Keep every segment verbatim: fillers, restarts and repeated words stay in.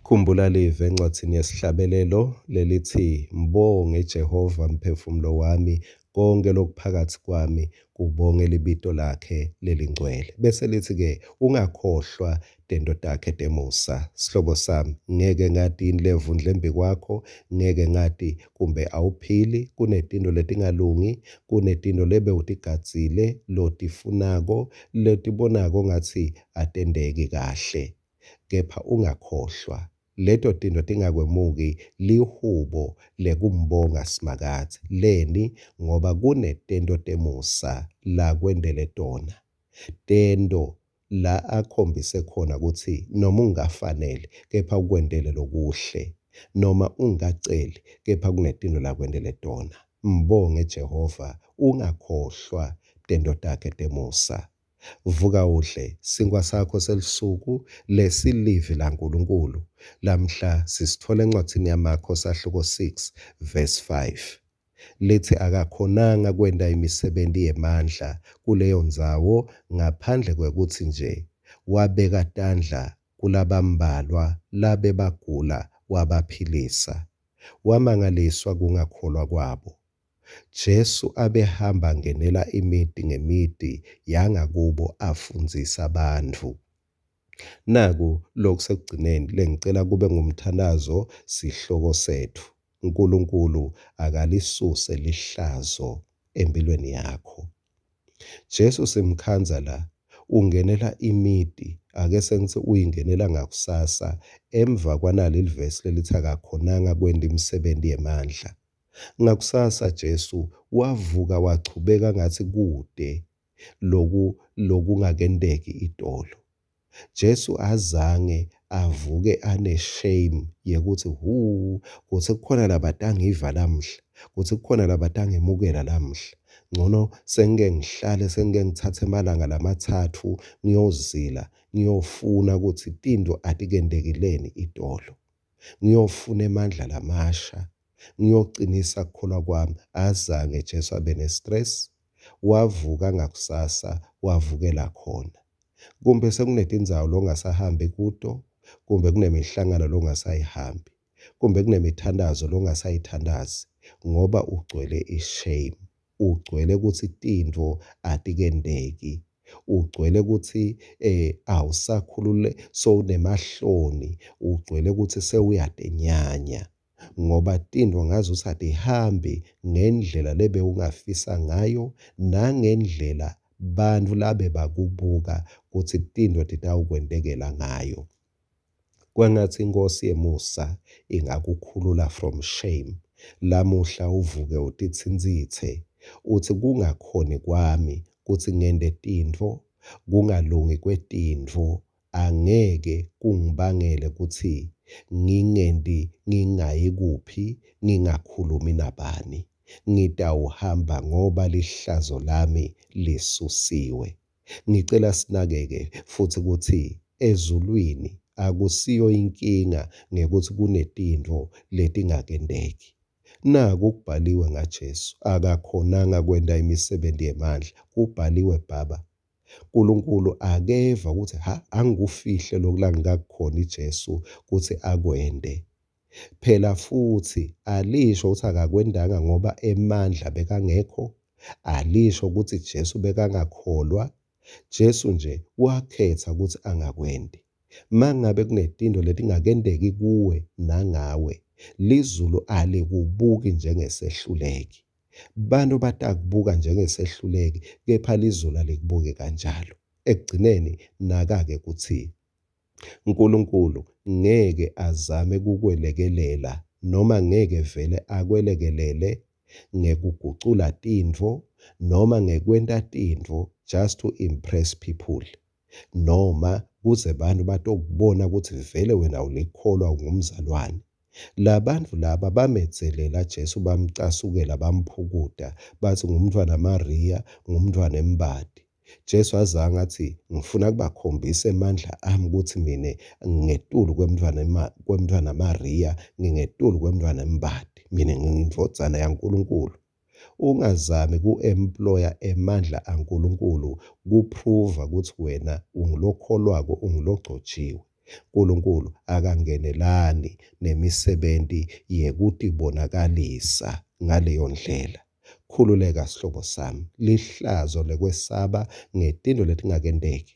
Khumbula live encwadzini yesihlabelelo lelithi, Mbonge Jehova mphefumulo wami, konke lokuphakathi kwami kubonge libito lakhe lelingcwele. Bese lithi-ke ungakhohlwa tento takhe temusa. Sihlobo sami, ngeke ngati yini levundle embi kwakho, ngeke ngati kumbe awuphili, kunetinto letingalungi, kunetinto lebe utigadzile, lotifunako, letibonako ngatsi atenteki kahle. Kepha ungakhohlwa leto tinto tingakwemuki lihubo lekumbonga Simakadze. Leni? Ngoba kunetento temusa lakwentele tona. Tento la akhombise khona kutsi noma ungafanele kepha ukwentele lokuhle, noma ungaceli kepha kunetinto lakwentele tona. Mbonge Jehova, ungakhohlwa tento takhe temusa. Vuka udle sinkhwa sakho selusuku lesilivi laNkulunkulu. Lamhla sisitfola encwadzini yaMakho sahluko six verse five. Lithi akakhonanga kwenta imisebenti yemandla kuleyo ndzawo ngaphandle kwekutsi nje wabeka tandla kulabambalwa labebagula wabaphilisa. Wamangaliswa kungakholwa kwabo. Jesu abehamba angenela imiti ngemiti yangakubo afundzisa bantfu. Naku lokusekugcineni lengicela kube ngumthandazo sihloko setfu. Nkulunkulu akalisuse lihlazo empilweni yakho. Jesu simkhandza la ungenela imiti, ake sengithi uyingenela ngakusasa emva kwanali livesi lelithi akakhonanga kwenta imisebenti yemandla. Ngakusasa Jesu wavuka wachubeka ngathi kude loku lokungakenteki itolo. Jesu azange avuke ane shame yekuthi hu kutsi kukhona labatangiva lamhla, kutsi kukhona labatangemukela lamhla. Ngcono sengike ngihlale sengike ngitsatse emalanga lamatsatfu ngiyozila, ngiyofuna kutsi tinto atikentekileni itolo. Ngiyofuna emandla lamasha, ngiyocinisa kukholwa kwami. Azange Jesu abe ne-stress, wavuka ngakusasa wavukela khona. Kumbe sekunetindzawo longasahambi kuto, kumbe kunemihlangano longasayihambi, kumbe kunemithandazo longasayithandazi ngoba ugcwele i-shame, ugcwele kutsi tintfo atikenteki, ugcwele kutsi eh awusakhulule sowunemahloni, ugcwele kutsi sewuyatenyanya ngoba tintfo ngazuthi atihambi ngendlela lebewungafisa ngayo nangendlela bantfu labebakubuka kutsi tintfo titawukwentekela ngayo. Kwangatsi iNkhosi yemusa ingakukhulula from shame. Lamuhla uvuke utitsintsitse uthi kungakhoni kwami kutsi ngente tintfo, kungalungi kwetintfo angeke kungibangele kutsi ngingenti ngingayi kuphi, ngingakhulumi nabani. Ngitawuhamba ngoba lihlazo lami lisusiwe. Ngicela sinakeke futhi kutsi ezulwini akusiyo inkinga ngekuthi kunetintfo letingakenteki. Naku kubhaliwe ngaJesu, akakhonanga kwenta imisebenti yemandla. Kubhaliwe baba. Nkulunkulu akeva ukuthi ha angikufihle lokhu langikakukhoni Jesu kutsi akwente. Phela futhi alisho ukuthi akakwentanga ngoba emandla bekangekho, alisho ukuthi Jesu bekangakholwa. Jesu nje wakhetha ukuthi angakwenti. Mangabe kunetinto letingakenteki kuwe nangawe, lizulu alikubuki njengesehluleki. Bantu batakubuka njengesehluleki, kepha lizulu alikubuki kanjalo. Ekugcineni naka-ke kutsi Nkulunkulu ngeke azame kukwelekelela noma ngeke vele akwelekelele ngekugucula tintfo noma ngekwenta tintfo just to impress people, noma kuze bantu batokubona kutsi vele wena ulikholwa ungumzalwane. Labantfu laba bamedzelela Jesu, bamcasukela, bamphukuta, batsi ngumntfwana Maria, ngumntfwana embadi. Jesu azange athi ngifuna kubakhombisa emandla ami kutsi mine ngingetulu kwemntfwana kwemntfwana Maria, ngingetulu kwemntfwana embadi, mina ngiyindvodzana yaNkulunkulu. Ungazami ku-employa emandla aNkulunkulu kuprova kutsi wena ungulokholwako, ungulogcotshiwe. Nkulunkulu akangenelani nemisebenti yekutibonakalisa ngaleyo ndlela. Khululeka sihlobo sami, lihlazo lekwesaba ngetintfo letingakenteki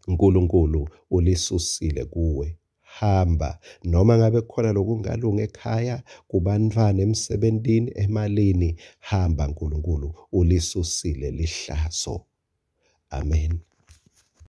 Nkulunkulu ulisusile kuwe. Hamba, noma ngabe kukhona lokungalungi ekhaya, kubantfwana, emsebentini, emalini, hamba Nkulunkulu ulisusile lihlazo. Amen.